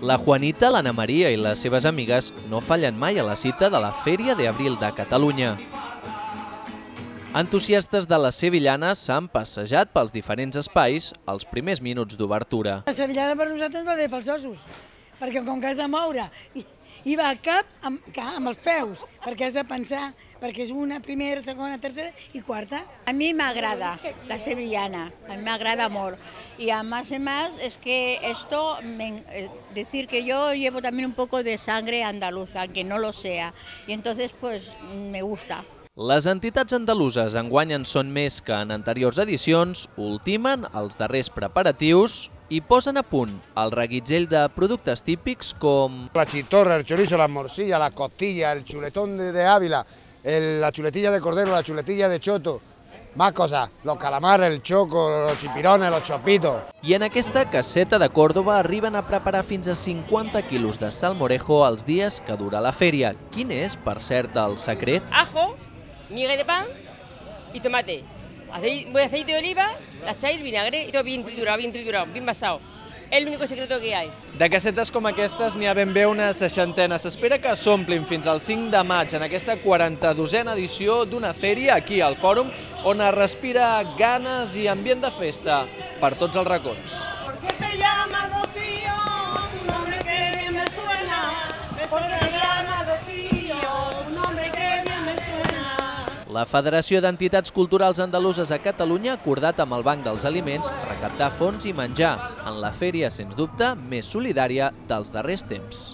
La Juanita, l'Anna Maria i les seves amigues no fallen mai a la cita de la Fèria d'Abril de Catalunya. Entusiastes de les sevillanes s'han passejat pels diferents espais als primers minuts d'obertura. La sevillana per nosaltres va bé pels ossos, perquè com que has de moure i va al cap amb els peus, perquè has de pensar, perquè és una, primera, segona, tercera i quarta. A mí me agrada la sevillana, a mí me agrada molt. Y además es que esto, decir que yo llevo también un poco de sangre andaluza, aunque no lo sea, y entonces pues me gusta. Les entitats andaluses enguany en són més que en anteriors edicions, ultimen els darrers preparatius i posen a punt el reguitzell de productes típics com la chistorra, el chorizo, la morcilla, la costilla, el chuletón de Ávila, la chuletilla de cordero, la chuletilla de choto, más cosas, los calamares, el choco, los chipirones, los chopitos. I en aquesta caseta de Córdoba arriben a preparar fins a 50 quilos de salmorejo els dies que dura la fèria. Quin és, per cert, el secret? Ajo, miga de pan y tomate. Aceite de oliva, la sal, vinagre y todo bien triturado, bien basado. És l'únic secret que hi ha. De casetes com aquestes n'hi ha ben bé una 60. S'espera que s'omplin fins al 5 de maig en aquesta 42a edició d'una fèria aquí al Fòrum, on es respira ganes i ambient de festa per tots els racons. ¿Por qué te llamas Rocío? Un nombre que bien me suena. ¿Por qué te llamas Rocío? Un nombre que bien me suena. La Federació d'Entitats Culturals Andaluses a Catalunya ha acordat amb el Banc dels Aliments recaptar fons i menjar en la fèria, sens dubte, més solidària dels darrers temps.